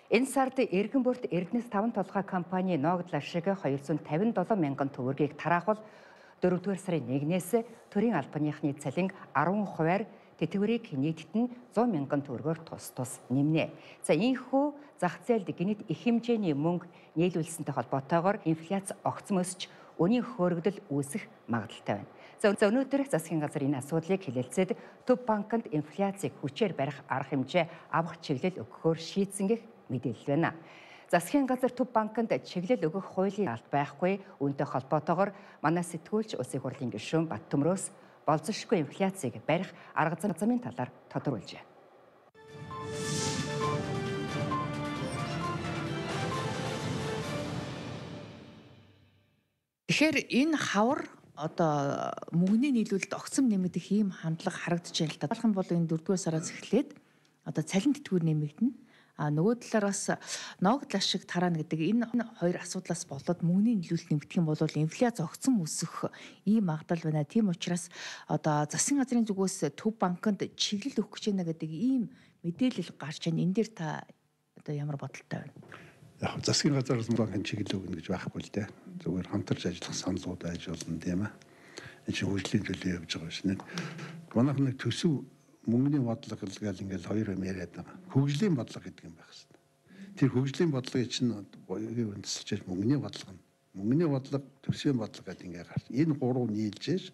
Энэ сард Эргэнбурт Эрдэнэс 5 толгой компани ногдлол шиг 257 мянган төгрөгийг тараахвал 4-р сарын 1-ээс төрийн албаныхны цалин 10%-аар тэтгэврийг нийтд нь 100 мянган төгрөгөөр тус нэмнэ. За ийхүү зах зээлд гинэт их хэмжээний мөнгө нийлүүлсэнтэй холбоотойгоор инфляц огцом өсч үнийн хөөргөдөл үүсэх магадлалтай байна. За өнөөдөр засгийн газар энэ асуудлыг хэлэлцээд Төв банкнд инфляцийг хүчээр барих арга хэмжээ авах чиглэл өгөхөөр шийдсэн гэх мэдээлэл байна. Засгийн газар Төв банкнд чиглэл өгөх хуулийн алт байхгүй, үүнтэй холбоотойгоор манай сэтгүүлч Улсын хурлын гишүүн Баттөмрөөс болзошгүй инфляцийг барих арга замын талаар тодорхойлжээ. Тэгэхээр энэ хавар одоо мөнгөний нийлүүлэлт огцом нэмэгдэх ийм хандлага харагдаж байна л да. Болох нь бол энэ 4-р сараас эхлээд одоо цалин тэтгэвэр нэмэгдэнэ. Нөгөө талаар бас ногдлол шиг тараана гэдэг энэ хоёр асуудлаас болоод мөнгөний нийлүүлэлт нэмэгдэх юм бол инфляц огцом өсөх ийм магадлал байна. Тийм учраас одоо засгийн газрын зүгээс Төв банкнд чиглэл өгөх гэж байна гэдэг ийм мэдээлэл гарч байна. Энэ дээр та одоо ямар бодолтой байна? Яг засгийн газараас банкын чиглэл өгнө гэж байхгүй л дээ. Зүгээр хамтарч ажиллах саналууд ажиллана тийм ээ. Энэ чинь хөгжлийн төлөө явж байгаа шнэ. Манайх нэг төсөв мөнгөний бодлого гэл ингээл хоёр юм яриад байгаа. Хөгжлийн бодлого гэдэг юм байх хэвээр. Тэр хөгжлийн бодлогыг чинь боёгийн үндэслэж мөнгөний бодлого нь. Мөнгөний бодлого, төсвийн бодлого гэдэг ингээ гарч. Энэ гурав нийлжээж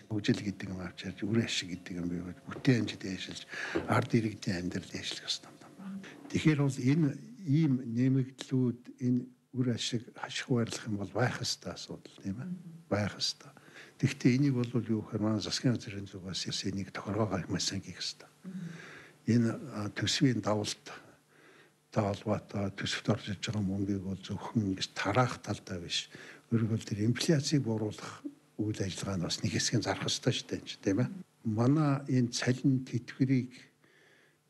хөгжил гэдэг юм авчирч, үр ашиг гэдэг юм бий. Бүтээн хэмжээд яшилж, ард иргэдийн амьдрал яшлах ёстой юм байна. Тэгэхээр бол энэ ийм нэмэгдлүүд энэ үр ашиг хашиг байрлах юм бол байх ёстой асуудал тийм ээ. Байх ёстой. Тэгэхдээ энийг бол юу гэхээр манай засгийн газрын зүгээс энийг тохиргоогоо маш сайн хийх ёстой. Энэ төсвийн давалт холбоотой төсөвт орж иж байгаа мөнгийг бол зөвхөн ингэж тараах талдаа биш. Өөрөөр хэлбэл тэр инфляцийг бууруулах үйл ажиллагаа нь бас нэг хэсгийн зарах ёстой шүү дээ тийм ээ. Манай энэ цалин тэтгэврийг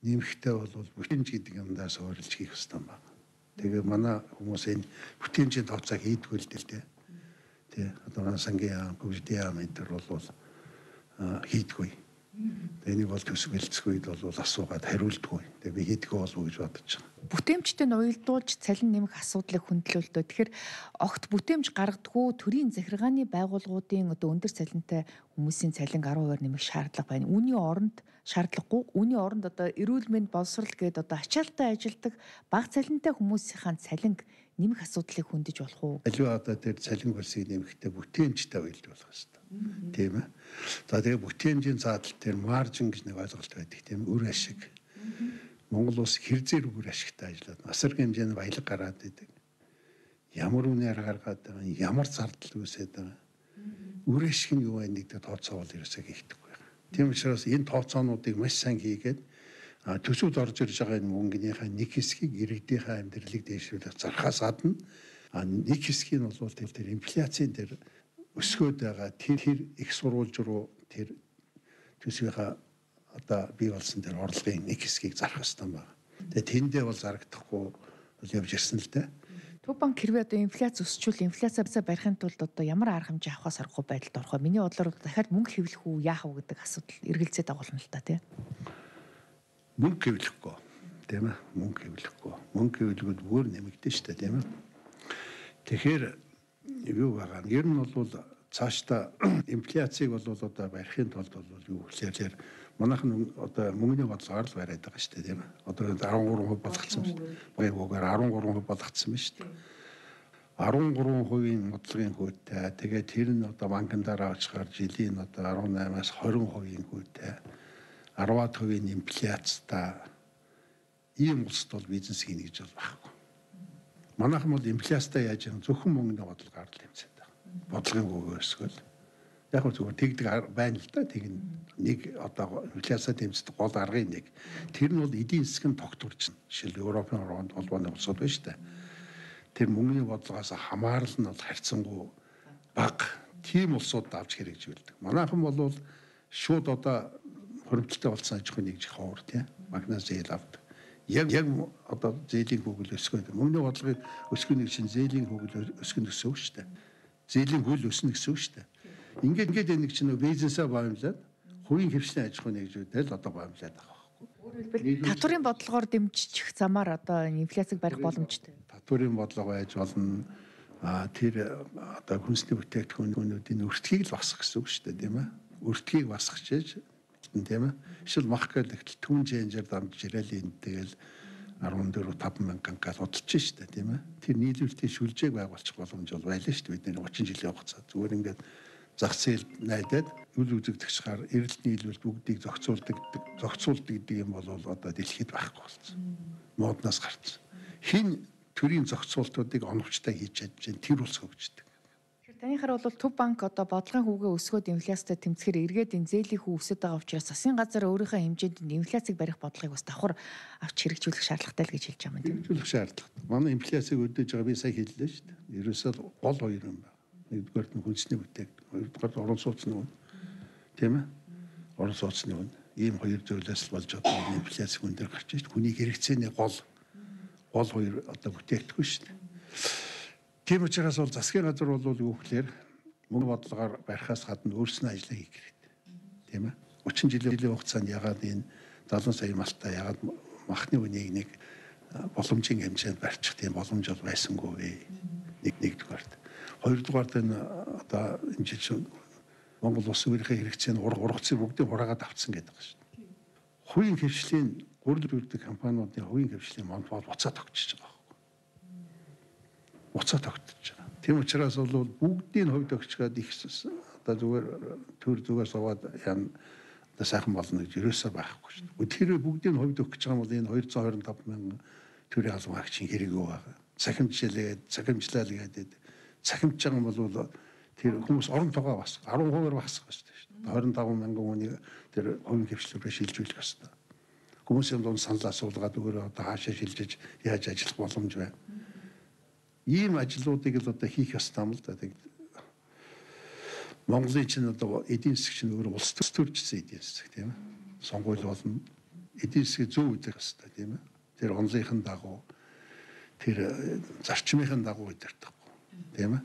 нэмэхтэй бол бүтээмж гэдэг юмдаас өөрлөж хийх ёстой юм байна. Тэгээ манай хүмүүс энэ бүтээмжийн тооцоог хийдгүү л дээ. Тэ одоо сангийн яам, хөгжлийн яам энэ төр бол хийдгүй. Энийг бол төсөв хэлцгүйд бол асуугаад хариулдаггүй. Тэгээ би хийдгүү болов уу гэж бодож байгаа. Бүтээмжтэй нь уялдуулж цалин нэмэх асуудлыг хөндлөлтөө. Тэгэхээр огт бүтээмж гаргадаггүй төрийн захиргааны байгууллагуудын одоо өндөр цалинтай хүмүүсийн цалин 10% нэмэх шаардлага байна. Үүний оронд шаардлагагүй. Үүний оронд одоо эрүүл мэнд боловсрол гээд одоо ачаалттай ажилдаг бага цалинтай хүмүүсийн цалин нэмэх асуудлыг хөндөж болох уу? Аливаа одоо тэр цалин хөлсийг нэмэхдээ бүтээмжтэй уялдуулах хэрэгтэй. Тийм ээ. За тэгээ бүтээмжийн заадал тэр маржин гэж нэг ойлголт байдаг тийм үр ашиг. Монгол улс хэрзээр үр ашигтай ажиллаад насар хэмжээний баялаг гараад идэг. Ямар үнээр гаргаад байгаа, ямар зардал үүсээд байгаа. Үр ашиг нь юу вэ нэгдээ тооцоол ерөөсөө хийхдэггүй байна. Тийм учраас энэ тооцоонуудыг маш сайн хийгээд төсөвд орж ирж байгаа энэ мөнгөнийхөө нэг хэсгийг иргэдийнхээ амьдралыг дэвшүүлэх зархаас гадна нэг хэсгийг нь бол тэр инфляцийн тэр өсгөөд байгаа тэр их сурвалж руу тэр төсвийнхаа одоо бий болсон тэр орлогын нэг хэсгийг зарах хэрэгтэй байна. Тэгээ тэндээ бол зарагдахгүй бол явж ирсэн л дээ. Төв банк хэрвээ одоо инфляц өсчүүл инфляцаа барихын тулд одоо ямар арга хэмжээ авахаас аргагүй байдалд орох вэ? Миний бодлоор дахиад мөнгө хэвлэх үү, яах вэ гэдэг асуудал эргэлзээд агуулна л та тийм. Мөнгө хэвлэхгүй тийм ээ. Мөнгө хэвлэхгүй. Мөнгө хэвлэгүүд бүр нэмэгдэн шүү дээ тийм ээ. Тэгэхээр юу байгаа нь ер нь бол цаашдаа инфляцийг бол одоо барихын тулд бол юу гэхээр манайхан одоо мөнгөний бодлогоор л бариад байгаа шүү дээ тийм ээ. Одоо 13% болгоцсон шүү дээ. Байгуугаар 13% болгоцсон байна шүү дээ. 13% бодлогын хөөтэй. Тэгээд тэр нь одоо банкн дараа очихаар жилийн одоо 18-аас 20% хөөтэй. 10% инфляцтай ийм улсад бол бизнес хийнэ гэж бол байхгүй. Манайхан бол инфляцтай яаж юм зөвхөн мөнгөний бодлогоор л хэмжээд байгаа. Бодлогын хөвөө өсгөл. Яг нь зүгээр тэгдэг байна л да. Тэг нэг одоо инфляцаа тэмцдэг гол аргын нэг. Тэр нь бол эдийн засгийн тогтворч нь. Жишээл Европын холбооны улсууд байна шүү дээ. Тэр мөнгөний бодлогоос хамаарал нь бол харьцангуй бага. Тийм улсууд авч хэрэгжүүлдэг. Манайхан бол шууд одоо хөрвөлттэй болсон аж ахуйн нэгж ховор тийм магназ зээл авдаг. Яг одоо зээлийн хөгжил өсгөх. Мөнгөний бодлогыг өсгөх нэг чинь зээлийн хөгжил өсгөх гэсэн үг шүү дээ. Зээлийн хөл өснө гэсэн үг шүү дээ. Ингээд нэг чинь бизнесээ боомлоод хувийн хөвшлийн аж ахуйн нэгжүүдээр л одоо боомлоод байгаа байхгүй. Татварын бодлогоор дэмжих замаар одоо инфляцийг барих боломжтой. Татварын бодлого байж болно. Тэр одоо хүнсний бүтээгдэхүүнүүдийн өртгийг л басах гэсэн үг шүү дээ, тийм ээ. Өртгийг басгачээж тийм ээ. Эсвэл мах гэдэг түн ченжээр дамж ирээл энэ тэгэл 14-5 мянган гал удалж штэ тийм ээ. Тэр нийлүүлэлтийн шүлжээг байгуулчих боломж бол байлаа штэ бидний 30 жилийн хугацаа. Зүгээр ингээд зах зээл найдаад үл үзэгдэгчээр эрэлт нийлүүлэлт бүгдийг зохицуулдаг гэдэг юм бол одоо дэлхийд байхгүй болсон. Моднаас гарсан. Хин төрийн зохицуултуудыг оновчтой хийж чадж тэр улс хөгждөг. Танийхаар бол Төв банк одоо бодлогын хүүгээ өсгөөд инфляцтай тэмцэхээр эргээд энэ зээлийн хүү өсөд байгаа учраас засгийн газар өөрийнхөө хэмжээнд инфляцийг барих бодлогыг бас давхар авч хэрэгжүүлэх шаардлагатай л гэж хэлж байгаа юм тийм. Хэрэгжүүлэх шаардлагатай. Манай инфляцийг өдөөж байгаа би сая хэллээ шүү дээ. Ерөөсөө гол хоёр юм байна. Нэгдүгээр нь хүнсний бүтээгдэхүүн, хоёрдугаар орон сууцны үн. Тийм ээ? Орон сууцны үн. Ийм хоёр зүйлээс л болж одоо инфляц хүн дээр гарч ирж хүний хэрэгцээний гол хоёр одоо бүтээгдэхүүн шүү дээ. Тийм учраас бол засгийн газар бол юу гэхээр мөнгө бодлогоор барихаас гадна өөрснөө ажиллаа хийх хэрэгтэй. Тийм ээ. 30 жилийн хугацаанд ягаад энэ 70 сая малтай ягаад махны үнийг нэг боломжийн хэмжээнд барьчих тийм боломж бол байсангүй. Нэгдүгээр. Хоёрдугаар нь одоо энэ жил Монгол улс өөрийнхөө хэрэгцээний ургацыг бүгдийг хураагаад авцсан гэдэг байна шүү дээ. Хувийн хвшлийн гурил бүрдэг компаниудын хувийн хвшлийн монопол буцаад тогтчихж байгаа. Буцаа тогтчихж байгаа. Тийм учраас бол бүгдийн хувьд өгчгээд их одоо зүгээр төр зүгээр суугаад яа одоо сайхан болно гэж ерөөсөө байхгүй шүү дээ. Тэр бүгдийн хувьд өгч байгаа бол энэ 225 мянган төрийн албан хаагчийн хэрэг юу байгаа. Цахимжлаа л гэдэг. Цахимж байгаа юм бол тэр хүмүүс орон тогоо бас 10% багасгах шүү дээ. 25 мянган хүний тэр хувийн хвшлүүрээ шилжүүлэх ёстой. Хүмүүсийн дунд санал асуулгаад өөрөө одоо хаашаа шилжиж яаж ажиллах боломж байна. Ийм ажлуудыг л одоо хийх ёстой юм л да. Монголын чинь одоо эдийн засаг чинь өөрөө улс төржсэн эдийн засаг тийм ээ. Сонгуул болно. Эдийн засгийг зөв үдэх ёстой тийм ээ. Тэр онлынхын дагуу тэр зарчмынхын дагуу үдэх таахгүй тийм ээ.